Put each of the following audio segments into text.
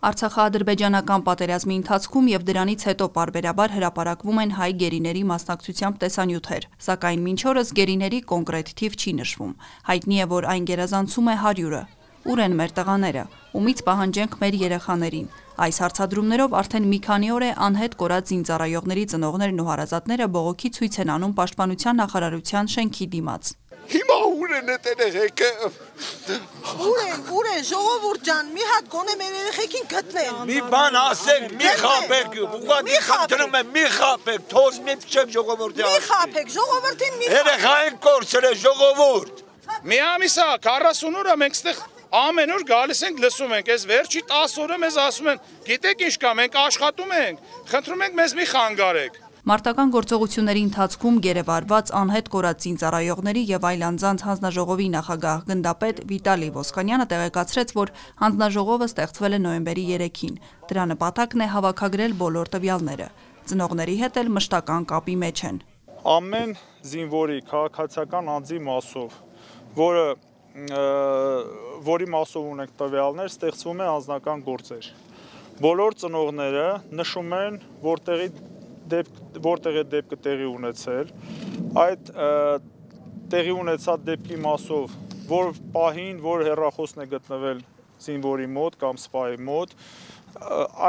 Արցախա-ադրբեջանական պատերազմի ընթացքում եւ դրանից հետո պարբերաբար հրապարակվում են հայ գերիների մասնակցությամբ տեսանյութեր, սակայն մինչ օրս գերիների կոնկրետ թիվ չի նշվում։ Հայտնի է, որ այն գերազանցում է 100-ը։ Ուր են մեր տղաները, ումից պահանջենք մեր երեխաներին։ Այս հարցադրումներով արդեն մի քանի օր է անհետ կորած զինծառայողների ծնողներն ու հարազատները բողոքի ցույց են անում Պաշտպանության նախարարության շենքի դիմաց։ Հիմա ուր են երեխեքը։ Ուր են ժողովուրդ ջան, մի հատ գոնե մեր երեխեքին գտնեն։ Մի բան ասեք, մի խաբեք, ուղղակի խնդրում եմ, մի խաբեք, թող մի փչեք ժողովրդի։ Մի խաբեք, ժողովրդին մի խաբեք։ Երեխային կորցրել ժողովուրդ։ Մի ամիսա 40 օր մենք ստեղ ամեն օր գալիս ենք լսում ենք, այս վերջի 10 օրը մեզ ասում են, գիտեք ինչ կա, մենք աշխատում ենք, խնդրում ենք մեզ մի խանգարեք։ Մարտական գործողությունների ընթացքում գերեվարված անհետ կորած զինծառայողների եւ այլ անձանց հանձնաժողովի նախագահ գնդապետ Վիտալի Ոսկանյանը տեղեկացրեց, որ հանձնաժողովը ստեղծվել է նոյեմբերի 3-ին։ Դրա նպատակն է հավաքագրել բոլոր տվյալները։ Ծնողների հետ էլ մշտական կապի մեջ են։ Ամեն զինվորի քաղաքացիական անձի մասով, որի մասով ունենք տվյալներ, ստեղծվում է անձնական գործեր։ Բոլոր ծնողները նշում են, որտեղ է դեպքը տեղի ունեցել, այդ տեղի ունեցած դեպքի մասով, որ պահին, որ հեռախոսն է գտնվել զինվորի մոտ կամ սպայի մոտ,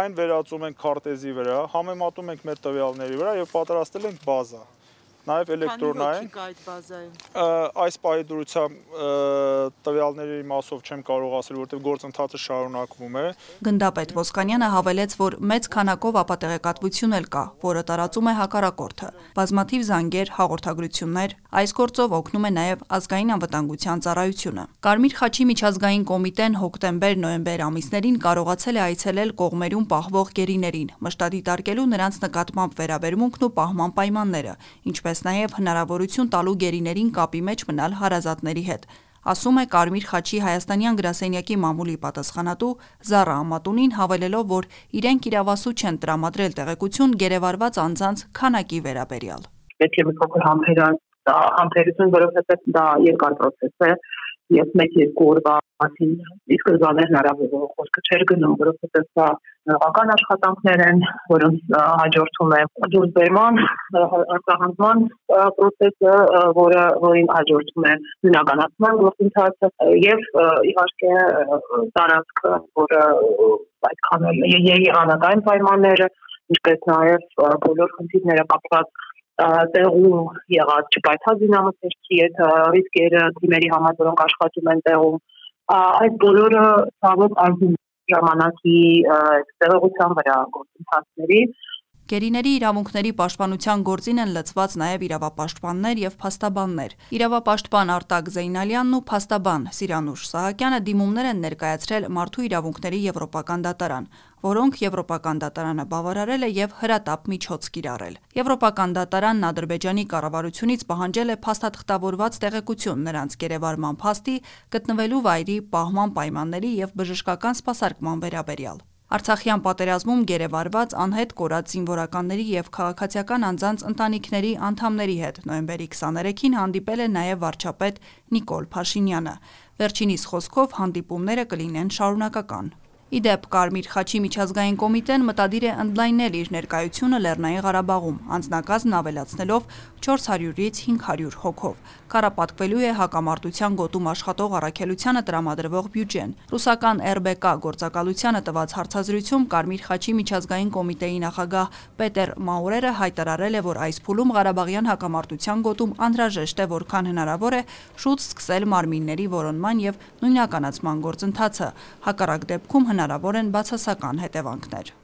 այն վերածում ենք քարտեզի վրա, համեմատում ենք մեր տվյալների վրա եւ պատրաստել ենք բազա, նաեւ էլեկտրոնային։ Այս պահի դրությամբ տվյալների մասով չեմ կարող ասել, որտեղ գործընթացը շարունակվում է։ Գնդապետ Ոսկանյանը հավելեց, որ մեծ քանակով ապատեղեկատվություն էլ կա, որը տարածում է հակառակորդը։ Բազմաթիվ զանգեր, հաղորդագրություններ, այս գործով օգնում է նաեւ ազգային անվտանգության ծառայությունը։ Կարմիր խաչի միջազգային կոմիտեն հոկտեմբեր-նոյեմբեր ամիսներին կարողացել է այցելել կողմերում պահվող գերիներին, մշտադիտարկելու նրանց նկատմամբ վերաբերմունքն ու պահման պայմանները, ինչպես նաև հնարավորություն տալու գերիներին կապի մեջ մնալ հարազատների հետ, ասում է Կարմիր խաչի հայաստանյան գրասենյակի մամուլի պատասխանատու Զառա Ամատունին, հավելելով, որ իրենք իրավասու չեն տրամադրել տեղեկություն գերեվարված անձանց քանակի վերաբերյալ։ Պետք է մի փոքր համբերություն, որովհետև դա երկար process է եւ 1-2 օրվա մասին իսկ զաներ հնարավոր խոսքը չէր գնում, որովհետև դա նորական աշխատանքներ են, որոնց հաջորդում է դուրսբերման, արտահանման process-ը, որին հաջորդում է բնականացման գործընթացը եւ իհարկե տարածքը, որը այդքան եղանակային պայմանները, ինչպես նաեւ բոլոր խնդիրները կապված տեղում եղած չպայթած զինամթերքի հետ ռիսկերը թիմերի համար, որոնք աշխատում են տեղում, այդ բոլորը ցավոք ազդում ժամանակի տեղողության վրա գործընթացների։ Գերիների իրավունքների պաշտպանության գործին են լծված նաև իրավապաշտպաններ եւ փաստաբաններ։ Իրավապաշտպան Արտակ Զեյնալյանն ու փաստաբան Սիրանուշ Սահակյանը դիմումներ են ներկայացրել Մարդու իրավունքների եվրոպական դատարան, որոնք Եվրոպական դատարանը բավարարել է եւ հրատապ միջոց կիրառել։ Եվրոպական դատարանն Ադրբեջանի կառավարությունից պահանջել է փաստաթղթավորված տեղեկություն նրանց գերեվարման փաստի, գտնվելու վայրի, պահման պայմանների եւ բժշկական սպասարկման վերաբերյալ։ Արցախյան պատերազմում գերեվարված անհետ կորած զինվորականների եւ քաղաքացիական անձանց ընտանիքների անդամների հետ նոյեմբերի 23-ին հանդիպել է նաեւ վարչապետ Նիկոլ Փաշինյանը։ Վերջինիս խոսքով հանդիպումները կլինեն շարունակական։ Իդեպ Կարմիր խաչի միջազգային կոմիտեն մտադիր է ընդլայնել իր ներկայությունը Լեռնային Ղարաբաղում, անձնակազմն ավելացնելով 400-ից 500 հոգով։ Կառապատկվելու է հակամարտության գոտում աշխատող առաքելությանը տրամադրվող բյուջեն։ Ռուսական ՌԲԿ գործակալությանը տված հարցազրույցում Կարմիր խաչի միջազգային կոմիտեի նախագահ Պետեր Մաուրերը հայտարարել է, որ այս փուլում Ղարաբաղյան հակամարտության գոտում անհրաժեշտ է որքան հնարավոր է շուտ սկսել մարմինների որոնման եւ նույնականացման գործընթացը։ Հակառակ դեպքում հնարավոր են բացասական հետևանքներ։